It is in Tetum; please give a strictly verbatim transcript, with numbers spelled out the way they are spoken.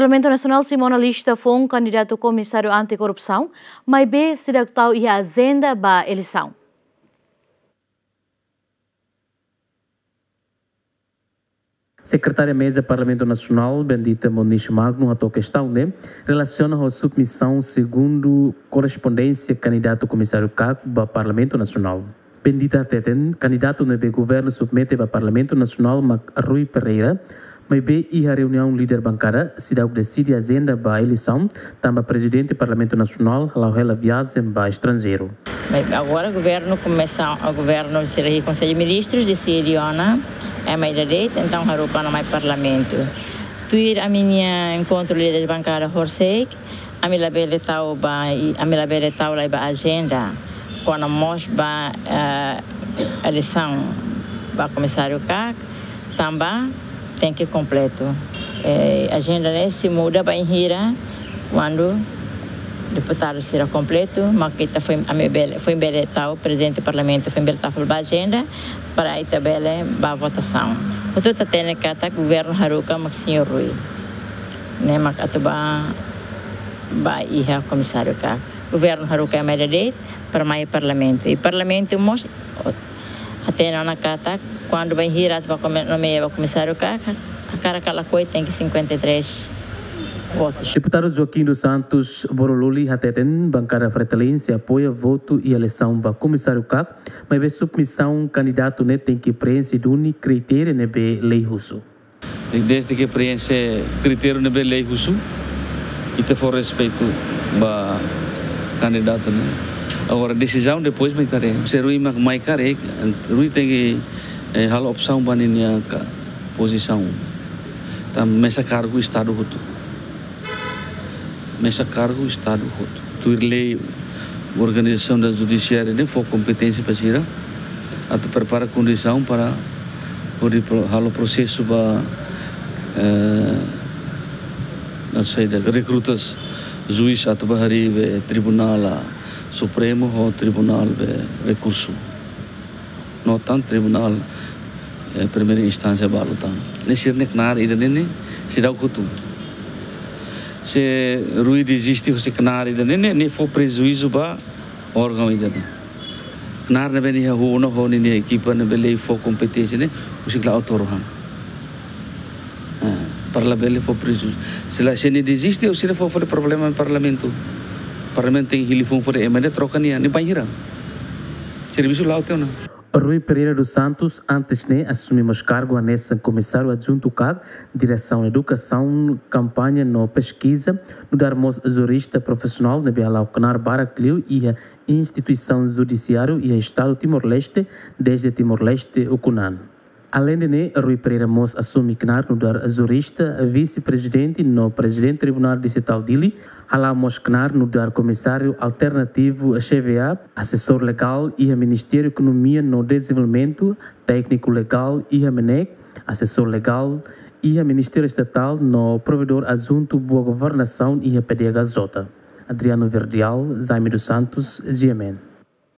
Parlamentu Nasionál simu ona lista foun kandidatu komisáriu anti-korrupsaun, maibé seidauk tau iha ajenda ba eleisaun. Sekretária Meza Parlamentu Nasionál, Bendita Moniz Magno, hato'o kestaun ne'e relasiona ho submisaun segundu korrespondénsia kandidatu komisáriu KAK ba Parlamentu Nasionál. Bendita hateten, kandidatu ne'ebé governu submete ba Parlamentu Nasionál mak Rui Pereira, maibé iha reuniaun líder bankada, seidauk deside ajenda ba eleisaun, tanba Prezidente Parlamentu Nasionál hala'o hela viajen ba estranjeiru. Mas agora governu komesa, o governu sira iha Konsellu Ministrus deside ona ema ida de'it, entaun haruka ona mai Parlamentu. Tuir ami-nia enkontru líder bankada horisehik, ami labele tau ba, ami labele tau lai ba ajenda kona-ba mós ba, eh, eleisaun ba komisáriu KAK, tanba tenke kompletu. Eh, ajenda ne'e sei muda bainhira kuandu deputadu sira kompletu, mak ita foin, ami bele, foin bele tau, Prezidente Parlamentu foin bele tau fali ba ajenda, para ita bele ba votasaun. Hotu-hotu hatene katak governu haruka mak señór Rui. Ne'e mak atu ba, ba iha komisáriu KAK. Governu haruka ema ida de'it para mai Parlamentu. I Parlamentu mós, o, hatene ona katak, kuandu bainhira atu ba kome-, nomeia ba komisáriu KAK, hakarak ka lakohi tenke cinquenta e três votus. Deputadu Joaquim dos Santos Borololi hateten, bankada Fretilin sei apoia votu iha eleisaun ba komisáriu KAK, maibé submisaun kandidatu ne'e tenke preenxe duni kritéria ne'ebé lei husu. Desde ke preenxe kritériu ne'ebé lei husu, ita fó respeitu ba kandidatu ne'e. Agora, desizaun depois mak ita haree. Se Rui mak mai karik, Rui tenke, eh, halo opsaun ba ninia ka-, pozisaun. Tanba mesak kargu Estadu hotu. Mesak kargu Estadu hotu. Tuir lei, organizasaun da judisiária ne'e fó kompeténsia ba sira atu prepara kondisaun para hodi pro-, halo prosesu ba, eh, na saida, rekruta juís atu ba harii be Tribunál, ah, Supremu ho Tribunál be Rekursu. No tan Tribunál, eh, Primeira Instánsia balu tan. Ne'e sira-nia knaar ida-ne'e ne'e seidauk hotu. Se Rui deziste husi knaar ida-ne'e ne'e, ne'e fó prejuízu ba órgaun ida-ne'e. Knaar ne'ebé nia hahú ona ho ninia ekipa ne'ebé lei fó kompeténsia ne'e, husik la autór han. Ah, para labele fó prejuízu. Se la, se nia deziste, o sira fó fali problema iha Parlamentu. Parlamentu tenke hili foun fali ema ida troka nia, nia bainhira. Servisu la'o tiha ona. Rui Pereira dos Santos, antes ne'e, asume mós kargu hanesan Komisáriu Adjuntu KAK, Diresaun Edukasaun, Kampaña no Peskiza, nu'udar mós jurista profisionál ne'ebé hala'o knaar barak liu iha instituisaun judisiáriu iha Estadu Timor-Leste, dezde Timor-Leste ukun-an. Aleinde ne'e, Rui Pereira mós asume knaar nu'udar jurista, vise-prezidente no prezidente Tribunál Distritál Dili, hala'o mós knaar nu'udar komisáriu alternativu CVA, asesór legál iha Ministériu Ekonomia no Dezenvolvimentu, tékniku legál iha MNEK, asesór legál iha Ministériu Estatál no provedór adjuntu boa governasaun iha PDHJ. Adriano Verdial, Jaime dos Santos, GMN.